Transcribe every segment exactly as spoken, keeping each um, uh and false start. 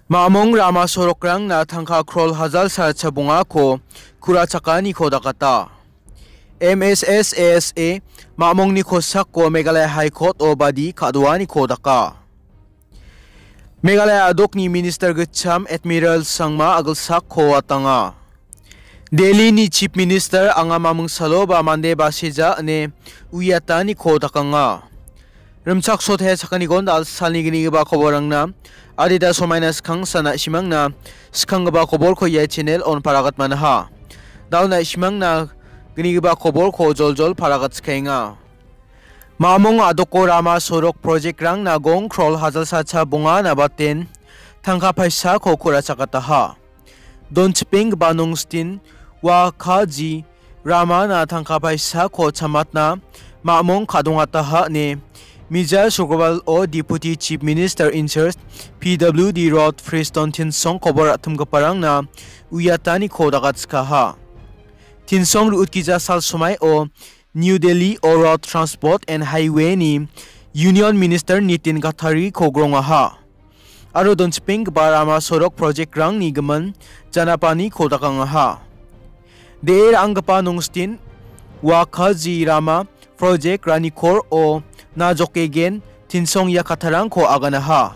Ma·mong rama sorokrangna tangka krol hajal salcha bongako ku·rachakaniko dakata. M S S A S A Ma·mongni kosako Meghalaya High Court-o badi ka·doaniko daka. Meghalaya a·dokni Minister gitcham Admiral Sangma a·gilsakko atanga. Delhi-ni Chief Minister anga maming saloba mande basija ine uiataniko dakanga. Rimchaksote sakgnigon dal·salni gnigipa koborangna adita somaina skangsa na·simangna skanggipa koborko ia channel-on paragatmanaha. Dal na·simangna gnigipa koborko joljol paragatskaenga. Ma·mong a·doko rama sorok project-rangna gong krol hajal salcha bonga nabaten tangka paisako ku·rachakataha. Donchipenggipa nongstin Wakaji ramana tangka paisako chamatna Ma·mong ka·dongataha ine Mijal Sukrobar-o Deputy Chief Minister in charge P W D Rod Friston Tinsong kobor ra·timgiparangna uiataniko dagatskaha. Tinsong ru·utgija sal somaio New Delhi-o Road Transport and Highway-ni Union Minister Nitin Gadkari-ko grongaha. Aro donchipenggipa rama sorok project-rangni gimin janapaniko dakangaha. De·e ra·anggipa nongstin Wakaji rama project-ranikor-o na jokegen Tinsong ia kattarangko aganaha.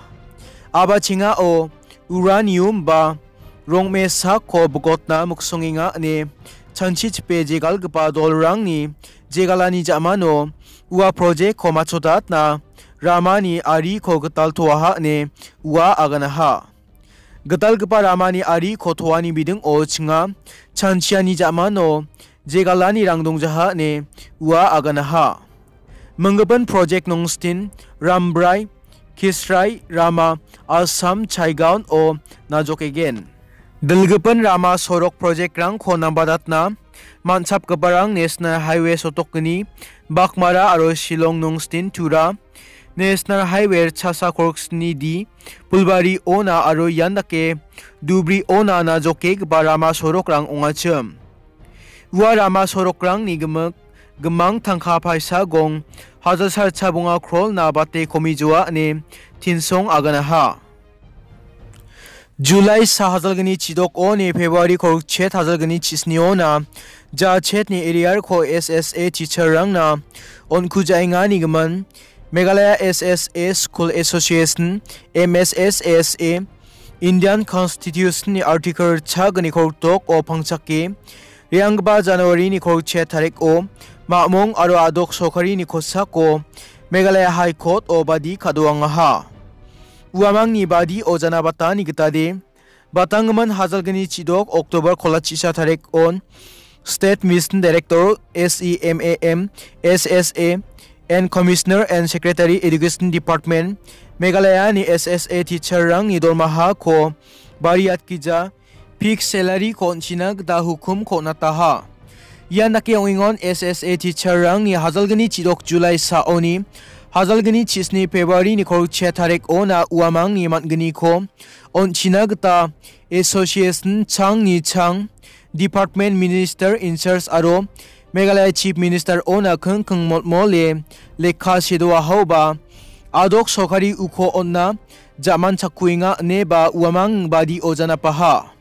Abachengao uranium ba rongmesako bigotna miksongenga ine chanchichipe jegalgipa dolrangni jegalani ja·mano ua project-ko matchotatna ramani ariko gital toaha ine ua aganaha. Gitalgipa ramani ariko toani bidingo chinga chanchiani ja·mano jegalanirang dongjaha ine ua aganaha. Minggipa project nongstin Rambrai, Kisrai rama Assam Chaigaon-o na jokegen. Dilgipa rama sorok project-rangko nambatatna man·chapgiparang National Highway sotokgni Bakmara aro Shillong nongstin Tura, National Highway chasa korksni D, Pulbari-ona aro ian dake Dubri-ona na jokegipa rama sorokrang ong·achim. Ua rama sorokrangni gimik, gimang tangka paisa gong hajal salcha bonga krolna bate komijoa ine Tinsong aganaha. Julai sa hajalgni chidokoni February korokchet hajalgni chisniona jachetni area-ko S S A teacher-rangna on·kujaengani gimin Meghalaya S S A School Association, M S S A S A, Indian Constitution-ni Article chagni korokdok-o pangchake re·anggipa January-ni korokchet tarik-o Ma·mong aro a·dok sorkarini kosako Meghalaya High Court-o badi ka·doangaha. Uamangni badi ojana batani gitade, batanggimin hajalgni chidok October kolachisa tarik-on State Mission Director, S E M A M, S S A, and Commissioner and Secretary Education Department, Meghalaya-ni S S A teacher-rangni dormahako bariatgija, fixed salary-ko on·china gita hukumko on·ataha. Ian dake ong·engon S S A teacher-rangni hajalgni chidok July saoni hajalgni chisni February-ni korokchia tarik-ona uamangni man·gniko on·china gita Association changni chang Department Minister in charge aro Meghalaya Chief Minister-ona kingking motmole lekka sedoahaoba a·dok sorkari uko on·na ja·manchakuenga ineba uamang badi ojanapaha.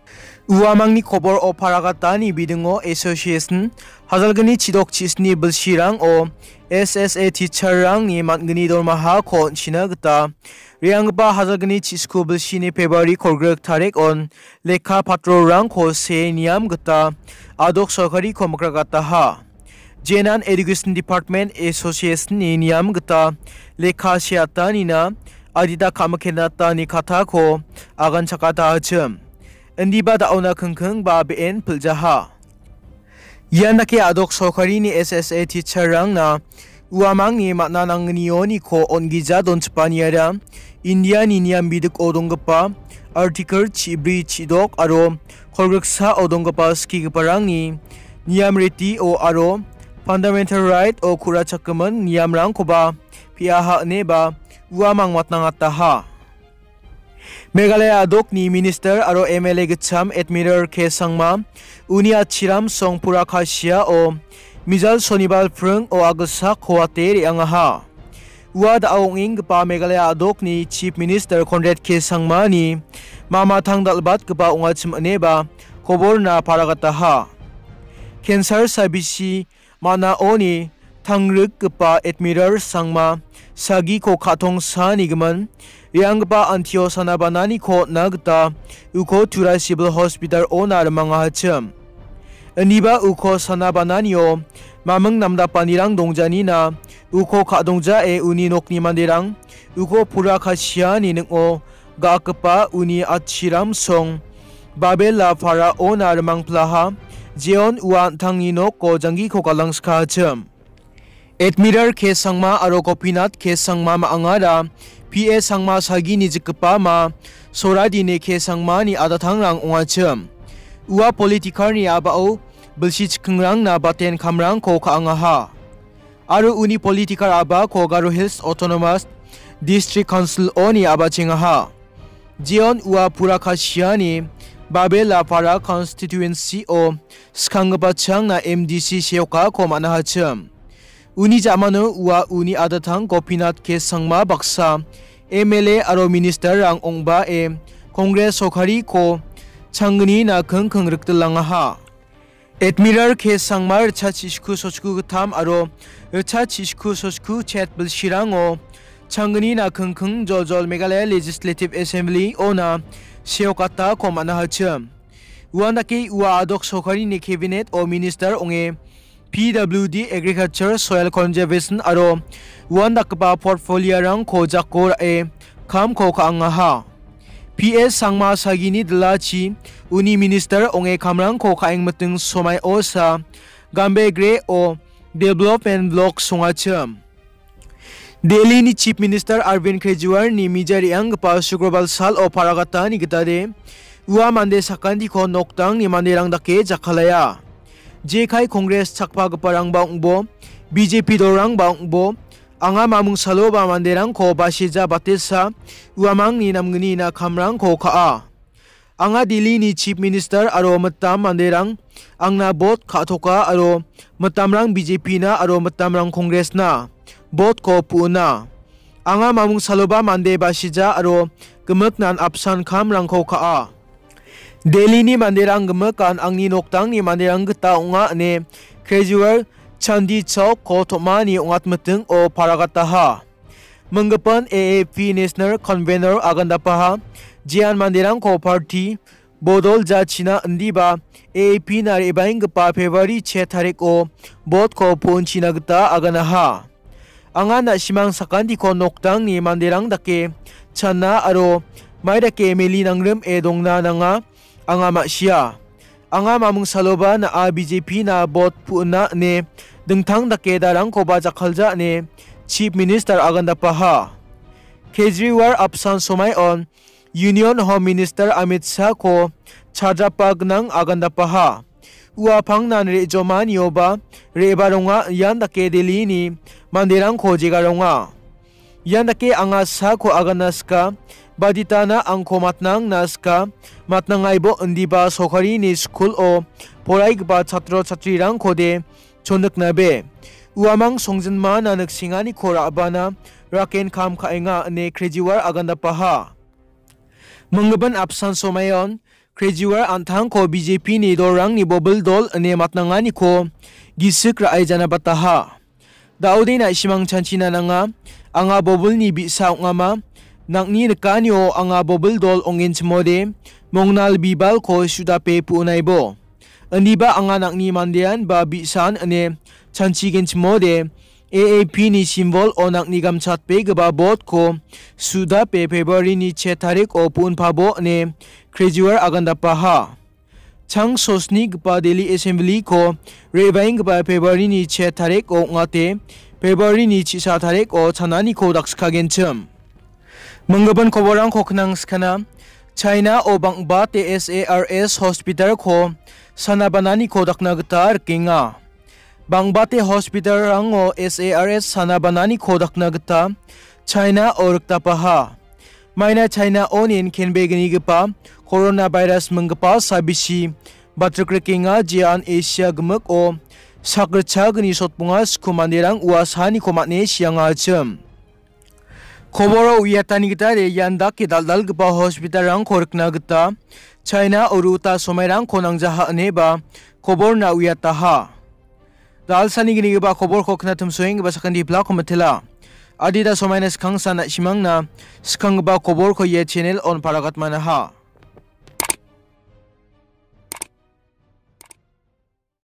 Uamangni kobor-o paragatani bidingo Association hajalgni chidok chisni bilsirango S S A teacher-rangni man·gni dormahako on·china gita re·anggipa hajalgni chisku bilsini February kolgrik tarik-on lekka patrolrangko see niam gita a·dok sorkariko mikragataha. Jenan Education Department Association-ni niam gita lekka seatanina adita ka·mikenatani katako aganchakatachim. Indiba da·ona kingking ba be·en piljaha. Ian dake a·dok sorkarini S S A teacher-rangna uamangni man·a nanggnioniko on·gija donchipaniara Indiani niam bidiko donggipa Article chibri chidok aro kolgriksao donggipa skigiparangni niam ritio aro fundamental right-o ku·rachakgimin niamrangkoba pe·aha ineba uamang matnangataha. Meghalaya a·dokni Minister aro M L A gitcham Admiral K Sangma, uni atchiram Songpura Kasiao, Mijal Sonibar pring-o a·gilsak ko·ate re·angaha. Ua da·o ong·enggipa Meghalaya a·dokni Chief Minister Conrad K Sangmani mamatang dal·batgipa ong·achim ineba koborna paragataha. Cancer sabisi man·aoni tangrikgipa Admiral Sangma sagiko ka·tongsa nigimin re·anggipa antio sanabananiko on·na gita uko Tura Civil Hospital-ona rimangahachim. Iniba uko sanabananio maming namdapanirang dongjanina uko ka·dongjae uni nokni manderang uko pura kasiani ning·o ga·akgipa uni atchiram song Babela Para-ona rimangplaha, jeon ua an·tangni noko janggiko galangskachim. Admiral K Sangma aro Gopinath K Sangma ma·angara P A Sangma sagini jikgipa ma Soradini K Sangmani adatangrang ong·achim. Ua politikarni a·bao bilsi chikingrangna baten kamrangko ka·angaha. Aro uni politikar a·bako Garo Hills Autonomous District Council-oni a·bachengaha. Jeon ua pura kasiani Babela Para constituency-o skanggipa changna M D C seokako man·ahachim. Uni ja·mano ua uni adatang Gopinath K Sangma baksa M L A aro ministerrang ong·bae Congress sorkariko changnina kingking rikdilangaha. Admiral K Sangma ritchasiku sotku gittam aro ritchasiku sotku chet bilsirango changnina kingking joljol Meghalaya Legislative Assembly-ona seokatako man·ahachim. Uandake ua adok sorkarini cabinet-o minister ong·e P W D, Agriculture, Soil Conservation aro uandakgipa portfolio-rangko jako ra·e kamko ka·angaha. P S Sangma sagini dilachi uni minister ong·e kamrangko ka·engmiting somaiosa Gambegre-o development block songachim. Delhi-ni Chief Minister Arvind Kejriwal-ni mija re·anggipa Sukrobal sal-o paragatani gitade ua mande sakantiko nokdangni manderang dake jakkalaya. Jekai Congress chakpagiparangba ong·bo, B J P dolrangba ong·bo, anga mamung saloba manderangko basija batesa uamangni namgnina kamrangko ka·a. Anga Delhi-ni Chief Minister aro mitam manderang angna bot ka·toka aro mitamrang B J P-na aro mitamrang Congress-na bot-ko pu·ona. Anga mamung saloba mande basija aro gimiknan apsan kamrangko ka·a. Delhi-ni manderang gimikan angni nokdangni manderang gita ong·a ine Kejriwal Chandni Chowk-ko tom·ani ong·atmitingo paragataha. Minggipin A A P National Convener agandapaha, jean manderangko party bodol jachina indiba A A P-na re·baenggipa February che tariko bot-ko pu·onchina gita aganaha. Anga na·simang sakantiko nokdangni manderang dake channa aro mai dake meli nangrim e dongna nanga, anga ma·sia. Anga mamung saloba na·a B J P-na bot pu·ona ine dingtang dake darangkoba jakkalja ine Chief Minister agandapaha. Kejriwal apsan somaion Union Home Minister Amit Shah-ko chadapa gnang agandapaha. Ua pangnan re·jomanioba re·baronga ian dake Delhi-ni manderangko jegaronga. Ian dake anga Shah-ko agana sika, baditana angko matnangna sika, matnangaibo indiba sorkarini skulo poraigipa chatro chatrirangkode chondiknabe. Uamang songjinmana niksenganiko ra·bana raken kam ka·enga ine Kejriwal agandapaha. Minggipin apsan somaion Kejriwal an·tangko B J P-ni dolrangni bobil dol ine matnanganiko gisik ra·e janabataha. Da·ode na·simang chanchina nanga, anga bobilni bi·sa ong·ama, nang·ni nikanio anga bobil dol ong·genchimode, mongnal bibalko sudape pu·onaibo. Indiba anga nang·ni mandean ba bi·san ine chanchigenchimode, A A P-ni simbol-o nang·ni gamchatbegipa bot-ko sudape February-ni che tariko pu·onpabo ine Kejriwal agandapaha. Chang sosnigipa Delhi Assembly-ko re·baenggipa February-ni che tariko ong·ate, February-ni chisa tariko chananiko dakskagenchim. Minggipin koborrangko knang skana, China-o bang·bate S A R S hospital-ko sanabananiko dakna gita rikenga. Bang·bate hospital-rango S A R S sanabananiko dakna gita China-o rikdapaha. Maina China-onin kenbegnigipa coronavirus minggipa sabisi batrikrikenga, jean Asia gimiko sakritchagni sotbonga sku manderang ua saniko man·e siangachim. Koboro uiatani gita ian dake dal·dalgipa hospitalrangko rikna gita China aro uta somairangko nangjaha ineba koborna uiataha. Dalsani ginigipa koborko knatimsoenggipa sakantipilako mitela. Adita somaina skangsa na·simangna skanggipa koborko ia channel on paragatmanaha.